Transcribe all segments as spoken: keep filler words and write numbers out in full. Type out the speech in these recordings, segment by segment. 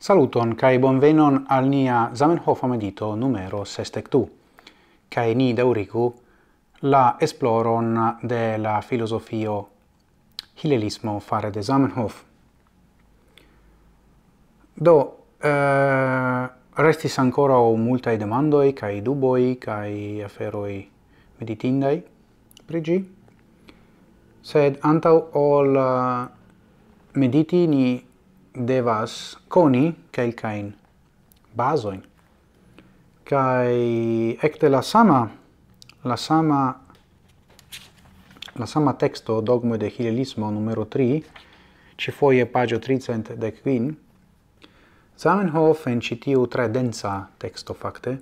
Saluton kaj bonvenon al nia Zamenhofa medito numero sesdek du, kaj ni daŭrigu la esploron de la filozofio hilelismo fare de Zamenhof. Do, eh, restis ankoraŭ multaj demandoj kaj duboj kaj aferoj meditindaj pri ĝi. Sed antaŭ ol, eh, mediti, ni devas koni kelkajn bazojn. Kaj ekde la sama, la sama, la sama teksto, Dogmoj de Hilelismo numero tri, ĉifoje paĝo tricent dek kvin, Zamenhof en ĉi tiu tre densa teksto fakte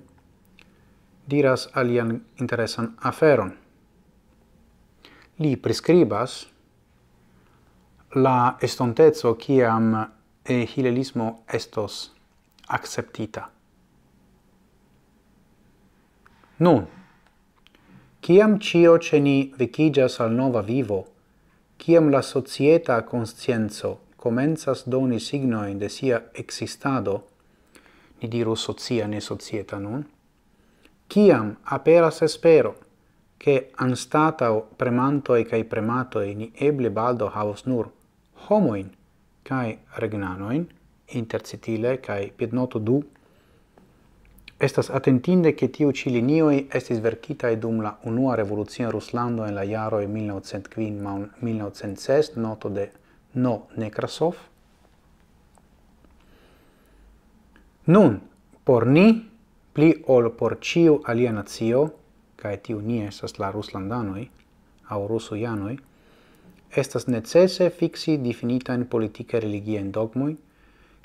diras alian interesan aferon. Li priskribas la estonteco, kiam, eh, hilelismo estos akceptita. Nun, kiam ĉio ĉe ni vekiĝas al nova vivo, kiam la societa konscienco komencas doni signojn de sia ekzistado, ni diru socia, ne societa nun, kiam aperas espero, ke anstataŭ premantoj kaj prematoj ni eble baldaŭ havos nur homojn kaj regnanojn, intercitile kaj piednoto du, estas atentinde, ke tiu ĉi linioj estis verkitaj dum la unua revolucio en Ruslando en la jaroj mil novcent kvin, mil novcent ses, noto de No. Nekrasov. Nun, por ni, pli ol por ĉiu alia nacio, kaj tiu ni estas la ruslandanoj, aŭ rusujanoj, estas necese fiksi difinitajn politike religiajn dogmojn,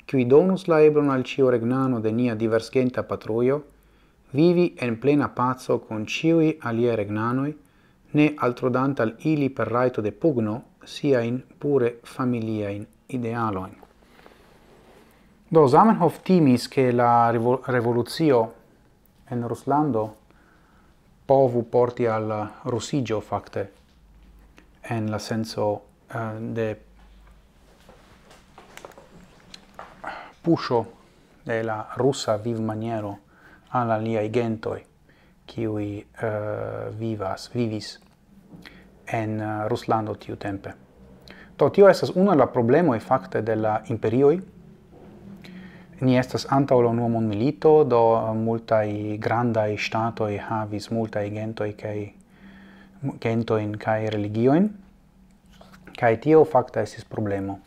kiuj donus la eblon al ĉiu regnano de nia diversgenta patrujo vivi en plena paco kun ĉiuj aliaj regnanoj, ne altrodante al ili per rajto de pugno siajn pure familiajn idealojn. Do Zamenhof timis, ke la revo-, revolucio en Ruslando povu porti al rusiĝo fakte, en la senco, eh, de puŝo de la rusa vivmaniero al aliaj gentoj, kiuj, eh, vivas, vivis en, eh, Ruslando tiutempe. Do, tio estas unu el la problemoj fakte de la imperioj. Ni estas antaŭ la unua mondmilito, do multaj grandaj ŝtatoj havis multaj gentoj kaj, gentojn kaj religiojn. Kaj tio fakte estis problemo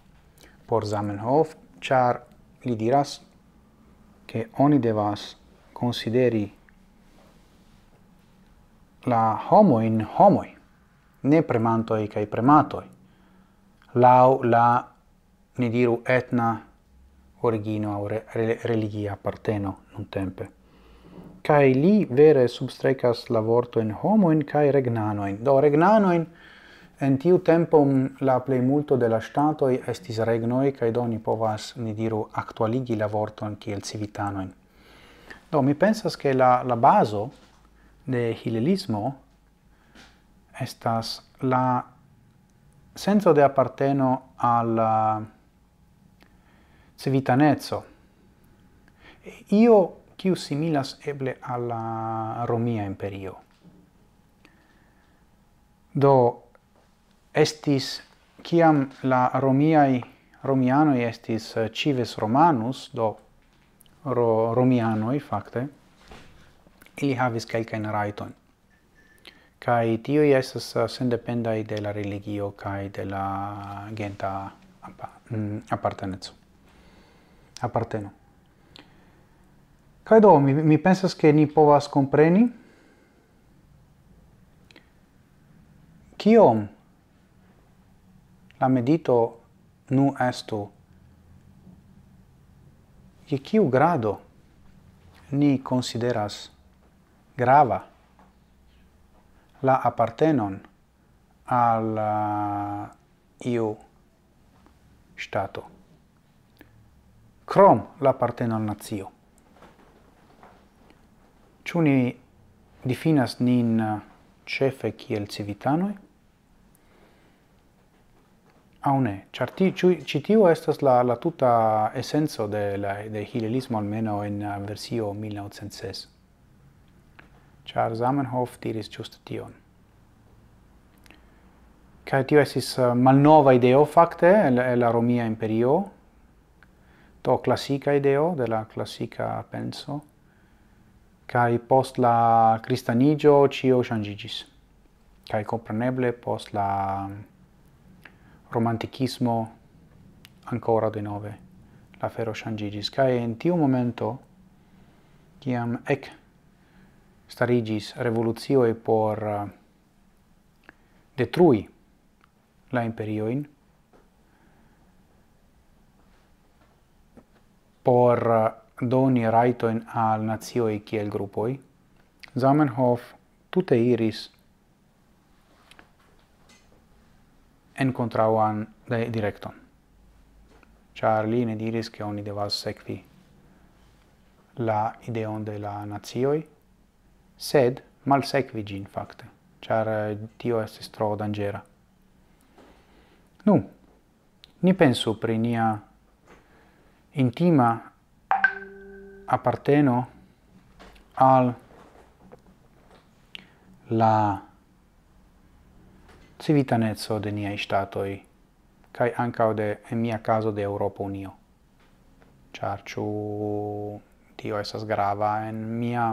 por Zamenhof, ĉar li diras, ke oni devas konsideri la homojn homoj, ne premantoj kaj prematoj, laŭ la, ni diru, etna origino aŭ re-, re-, religia aparteno nuntempe. Kaj li vere substrekas la vortojn homojn kaj regnanojn. Do, regnanojn en tiu tempo, mm, la plejmulto de la ŝtatoj estis regnoj, kaj do ni povas, ni diru, aktualigi la vorton kiel civitanojn. Do, mi pensas, ke la, la bazo de hilelismo estas la senco de aparteno al, eh, civitaneco. Io kiu similas eble al la Romia Imperio. Do, estis, kiam la romiaj, romianoj estis, eh, cives romanus, do ro-, romianoj fakte, ili havis kelkajn rajtojn. Kaj tiuj estas, eh, sendependaj de la religio kaj de la genta apa-, mm, aparteneco. Aparteno. Kaj do, mi, mi pensas, ke ni povas kompreni, kiom la medito nu estu, je kiu grado ni konsideras grava la apartenon al, eh, iu ŝtato, krom la aparteno al nacio. Ĉu ni difinas nin, eh, ĉefe kiel civitanoj? Aŭ ne? Ĉar ti-, ĉu-, ĉi tiu estas la, la tuta esenco de la, de hililismo, almenaŭ en, eh, versio mil naŭcent ses. Ĉar Zamenhof diris ĝuste tion. Kaj tio estis, eh, malnova ideo fakte el, el la Romia Imperio, do klasika ideo de la klasika penso, kaj post la kristaniĝo ĉio ŝanĝiĝis. Kaj kompreneble post la romantikismo ankoraŭ denove la afero ŝanĝiĝis. Kaj en tiu momento, kiam ekstariĝis revolucioj por, eh, detrui la imperiojn, por, eh, doni rajtojn al nacioj kiel grupoj, Zamenhof tute iris en kontraŭan de-, direkton. Ĉar li ne diris, ke oni devas sekvi la ideon de la nacioj, sed malsekvi ĝin fakte, ĉar, eh, tio estis tro danĝera. Nu, ni pensu pri nia intima aparteno al la civitaneco de niaj ŝtatoj, kaj ankaŭ de, en mia kazo, de Eŭropa Unio. Ĉar ĉu tio estas grava en mia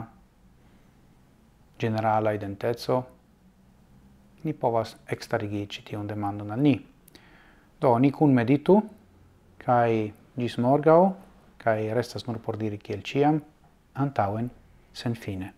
ĝenerala identeco? Ni povas ekstarigi ĉi tiun demandon al ni. Do, ni kunmeditu, kaj ĝis morgaŭ, kaj restas nur por diri kiel ĉiam, antaŭen senfine.